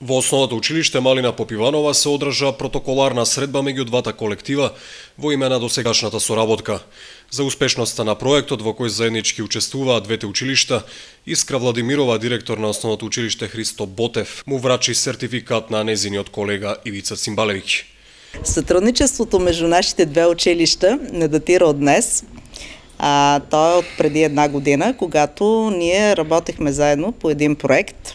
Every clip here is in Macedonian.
Во Основното училиште Малина Попиванова се одржа протоколарна средба меѓу двата колектива во име на досегашната соработка. За успешноста на проектот во кој заеднички учествуваат двете училишта, Искра Владимирова, директор на Основното училиште Христо Ботев, му врачи сертификат на незиниот колега Ивица Цимбалевиќ. Сътрудничеството между нашите две училища не датира от днес. То е от преди една година, когато ние работехме заедно по един проект.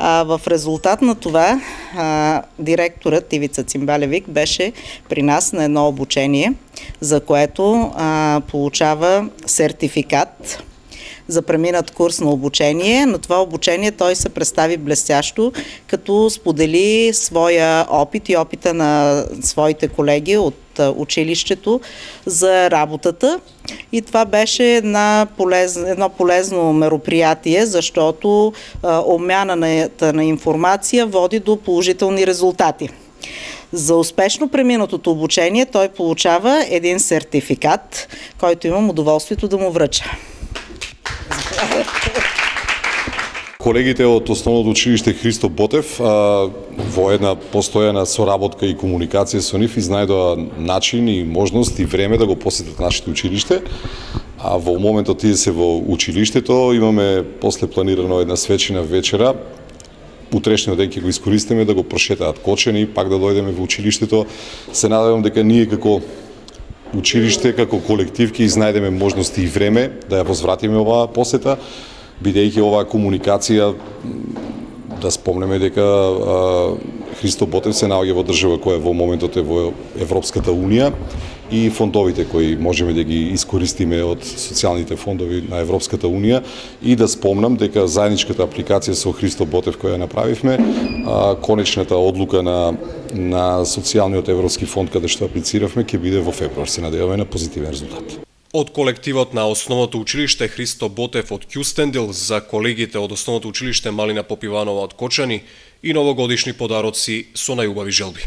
В резултат на това директорът Ивица Цимбалевиќ беше при нас на едно обучение, за което получава сертификат за преминат курс на обучение. На това обучение той се представи блестящо, като сподели своя опит и опита на своите колеги от училището за работата. И това беше едно полезно мероприятие, защото обмяната на информация води до положителни резултати. За успешно преминатото обучение той получава един сертификат, който имам удоволствието да му връча. Колегите од Основното училиште Христо Ботев во една постојана соработка и комуникација со нив изнајдоа начин и можност и време да го посетат нашите училиште. А во моментот тие се во училиштето, имаме после планирано една свечина вечера. Утрешниот ден ќе го искористиме да го прошетаат Кочани, пак да дојдеме во училиштето. Се надевам дека ние како училиште, како колектив ќе изнајдеме можности и време да ја возвратиме оваа посета, бидејќи оваа комуникација, да спомнеме дека Христо Ботев се наоѓа во држава која во моментот е во Европската Унија и фондовите кои можеме да ги искористиме од социјалните фондови на Европската Унија, и да спомнам дека заедничката апликација со Христо Ботев која направивме, конечната одлука на социјалниот европски фонд каде што аплициравме ќе биде во февруар. Се надеваме на позитивен резултат. Од колективот на Основното училиште Христо Ботев од Кюстендил за колегите од Основното училиште Малина Попиванова од Кочани и новогодишни подароци со најубави желби.